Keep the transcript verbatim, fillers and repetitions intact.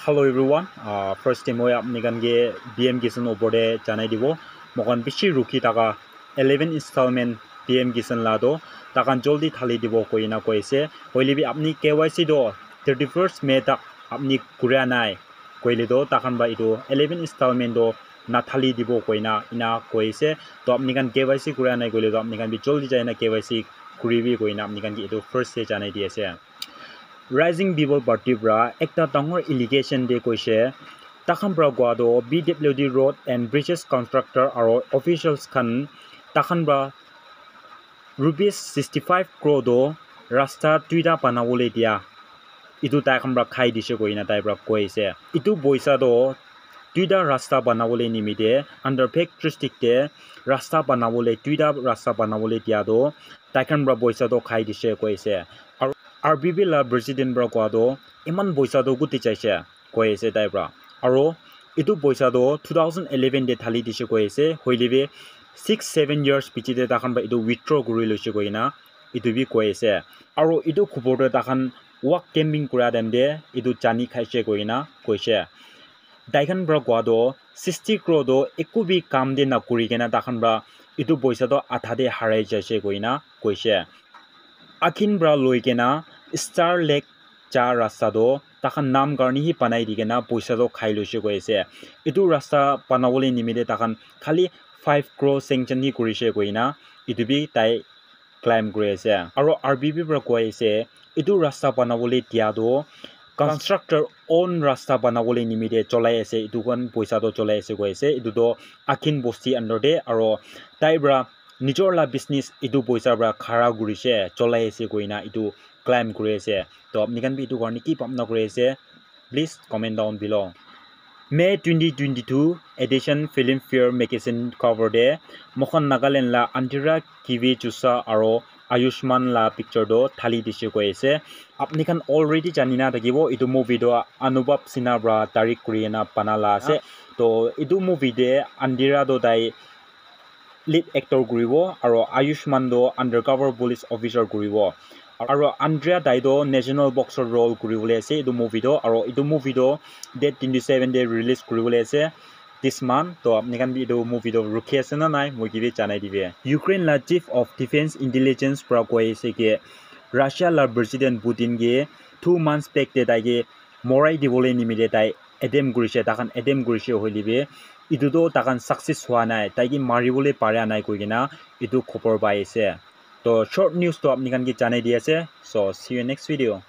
Hello everyone, uh, first time moi apni khan ke P M Kisan opor te janai dibo. Moi khan bishi rukhi thaka eleven installment P M Kisan la toh takhan joldi thali dibo koina koi ase. Hoile bi apni K Y C toh thirty first May tak apni kuria nai koile toh takhan ba etu eleven installment toh nathali dibo koina ina koi ase. Toh apni khan K Y C kuria nai koile toh apni khan bi joldi jaina K Y C kuribi koina apni khan ke etu first te janai di ase. Rising People Party pra ekta dangor allegation te koise, takhan pra koa toh P W D road and bridges contractor aro officials khan takhan pra rupees sixty five crore toh rasta duita banabole dia, etu tai khan pra khai dise koina tai pra koi ase. Etu poisa toh duita rasta banabole nimite under Phek district te rasta banabole, duita rasta banabole dia toh tai khan pra poisa toh khai dise koi ase. Aro R P P la president pra koa toh eman poisa toh kuti jaise koi ase tai pra. Aro etu poisa toh two thousand eleven te thali dise koi ase, hoile bi six seven years piche te takhan pra etu withdraw kuri loise koina etu bi koi ase. Aro etu khubor toh takhan wak camping kura time te etu jani khaise koina koise. Tai khan pra koa toh sixty crore toh eku bi kam te nakuri kena takhan pra etu poisa toh adha te harai jaise koina koise. Akhin pra loi kena Star Lake ja rasta toh takhan nam karne hi banai di kena poisa toh khai loise koi ase. Etu rasta banabole nimite takhan khali five crore sanction hi kurise koina etu bi tai claim kuri ase. Aro R P P pra koi ase etu rasta banabole dia toh constructor own rasta banabole nimite cholai ase, etu khan poisa toh cholai ase koi ase. Etu toh Akhin bosti under te aro tai pra nijor la business etu poisa pra khara kurise, cholai ase koina etu claim kuri ase. Toh apni khan bi etu karne ki bhabna kuri ase, please comment down below. May twenty twenty-two edition Filmfare magazine cover te moikhan Nagaland la Andhera Kivi Chusa aro Ayushmann la picture toh thali dise koi ase. Apni khan already jani na thakibo etu movie toh Anubhav Sinha pra direct kuri kena bana la ase. Toh etu movie te Andhera toh tai lead actor kuribo aro Ayushmann toh undercover police officer kuribo. Aro Andhera tai toh national boxer role kuribole ase etu movie toh, aro etu movie toh date twenty seven te release kuribole ase this month. Toh apni khan bi etu movie toh rukhi ase na nai moi ke bi janai dibe. Ukraine la chief of defense intelligence pra koi ase ke Russia la president Putin ke two months back te tai ke morai dibole nimite tai attempt kurise, takhan attempt kurise hoile bi etu toh takhan success hua nai, tai ke maribole para nai koi kena etu khobor pai ase. Toh short news toh apni khan ke janai di ase. So see you next video.